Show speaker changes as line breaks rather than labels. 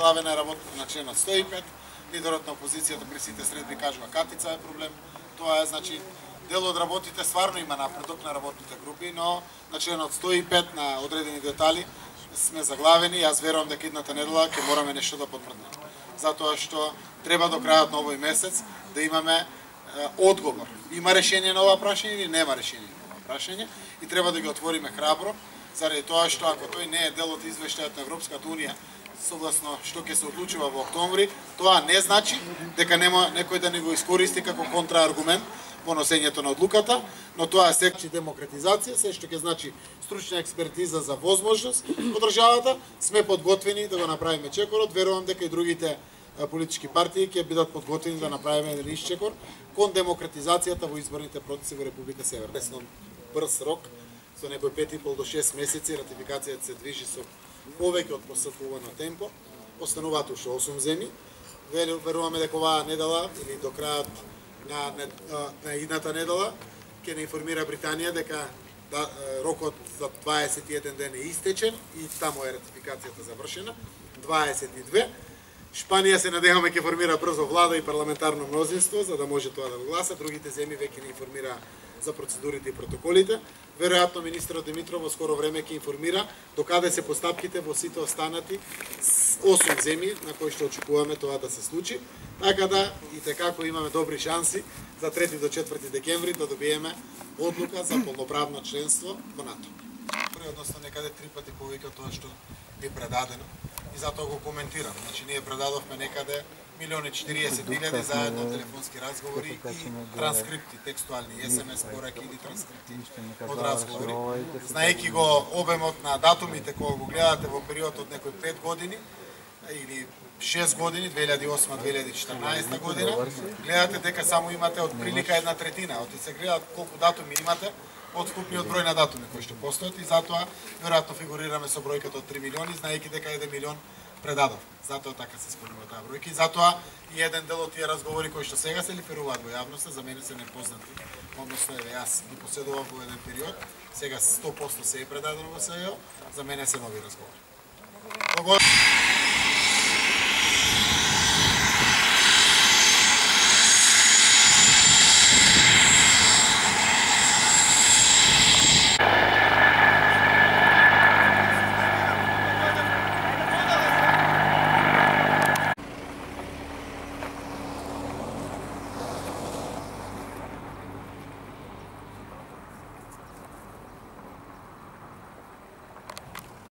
Главена работата на членот 105, лидерот на опозицијата при сите средби кажува Катица е проблем. Тоа е, значи, дел од работите стварно има напредок на работните групи, но на членот 105 на одредени детали сме заглавени. Јас верувам дека идната недела ќе мораме нешто да подмрднеме. Затоа што треба до крајот на овој месец да имаме одговор. Има решение на ова прашање или нема решение на ова прашање и треба да ги отвориме храбро, заради тоа што ако тој не е дел од извештајот на Европската унија, согласно што ќе се одлучува во октомври, тоа не значи дека нема некој да не го искористи како контрааргумент во носењето на одлуката, но тоа е секчи демократизација, се што ќе значи стручна експертиза за возможност во државата. Сме подготвени да го направиме чекорот, верувам дека и другите политички партии ќе бидат подготвени да направиме еден исчекор кон демократизацијата во изборните процеси во Република Северна. Лесно брз рок, со некој 5,5 до 6 месеци, ратификацијата се движи со повеќе од посакувано темпо. Остануваат уште 8 земји. Веруваме дека оваа недела или до крајот на идната недела ќе не информира Британија дека рокот за 21 ден е истечен и таму е ратификацијата завршена. 22. Шпанија се надеваме ќе формира брзо влада и парламентарно мнозинство за да може тоа да го гласа. Другите земји веќе не информира за процедурите и протоколите. Веројатно министерот Димитров во скоро време ќе информира докаде се постапките во сите останати 8 земји на кои што очекуваме тоа да се случи. Така да и tekako имаме добри шанси за 3 до 4 декември да добиеме одлука за полноправно членство во НАТО. Односно некаде 3 пати повеќе од тоа што е предадено. И затоа го коментирам. Значи ние предадовме некаде 1.040.000 заедно телефонски разговори и транскрипти текстуални, SMS пораки или транскрипти од разговори. Знаеки го обемот на датумите кога го гледате во период од некои 5 години или 6 години, 2008-2014 година, гледате дека само имате од прилика 1/3. Оти се гледат колку датуми имате од вкупниот број на датуми кои што постојат и затоа веројатно фигурираме со бројката од 3 милиони, знаејќи дека 1 милион предадов. Затоа така се спомнува таа бројка и затоа и еден дел од тие разговори кои што сега се лиферуваат во јавноста за мене се непознати. Односно еве јас ги поседував во еден период, сега 100% се е предадено во СЈО, за мене се нови разговори.